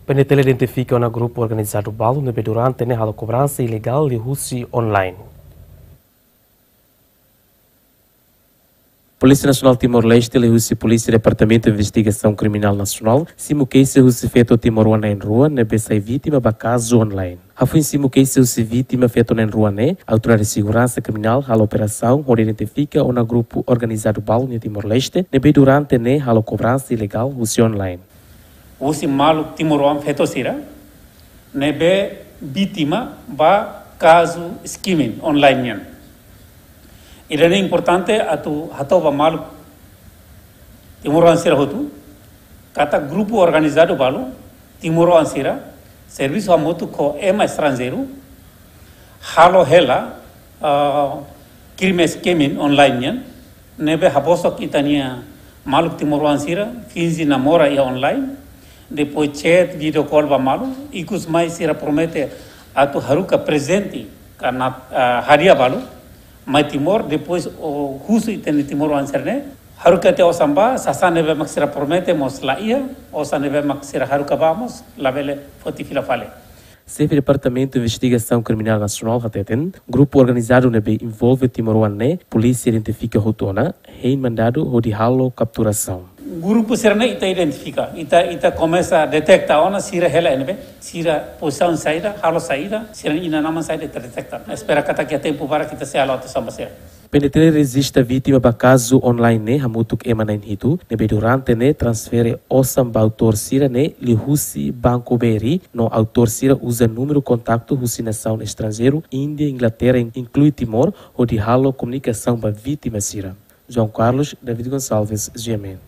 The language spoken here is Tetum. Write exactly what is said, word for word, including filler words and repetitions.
PNTL identifika ona grupu organizadu balu ne'ebé durante ne'e halo kobransa ilegál liuhusi online. Polísia Nasionál Timor-Leste liuhusi Polísia Departamentu Investigasaun Kriminál Nasionál simu keixa husi feto timoroan na'in-rua ne'ebé sai vítima ba kazu online. Hafoin simu keixa husi vítima feto na'in-rua ne'e, Autoridade Seguransa Kriminál halo operasaun hodi identifika ona grupu organizadu balu nia Timor-Leste ne'ebé durante ne'e halo kobransa ilegál husi online. Husi maluk timoroan feto sira ne'ebé vítima ba kazu skimming online nian. Ida-ne'e importante atu hato'o ba maluk timoroan sira hotu katak grupu organizadu balu timoroan sira servisu hamutuk ho ema estranjeiru halo hela, ah, krime skimming online nian, ne'ebé habosok ita-nia maluk timoroan sira finje namora iha online, depois chat, video call ba malu, ikus mai sira promete atu haruka prezente ka nat-, ah, hadiah balu mai Timor, depois husu ita-nia timoroan sira ne'e haruka tiha osan ba, sasán ne'ebé mak sira promete mós la iha, osan ne'ebé mak sira haruka ba mós labele foti fila fali. Xefe Departamentu Investigasaun Kriminál Nasionál hateten, grupu organizadu ne'ebé envolve timoroan ne'e, polísia identifika hotu ona, hein mandadu hodi halo kapturasaun. Grupu sira ne'e ita identifika, ita, ita komesa deteta ona sira hela iha ne'ebé, sira pozisaun saida, halo saida, sira inan-aman saida ita deteta. Espera katak iha tempu badak ita sei halo atuasaun ba sira. PNTL rejista vítima ba kazu online ne'e hamutuk ema na'in-hitu, ne'ebé durante ne'e transfere osan ba autór sira ne'e liuhusi banku B R I, no autór sira uza númeru kontaktu husi nasaun estranjeiru, Índia, Inglaterra, inklui Timor, hodi halo komunikasaun ba vítima sira. João Carlos, David Gonçalves, G M N.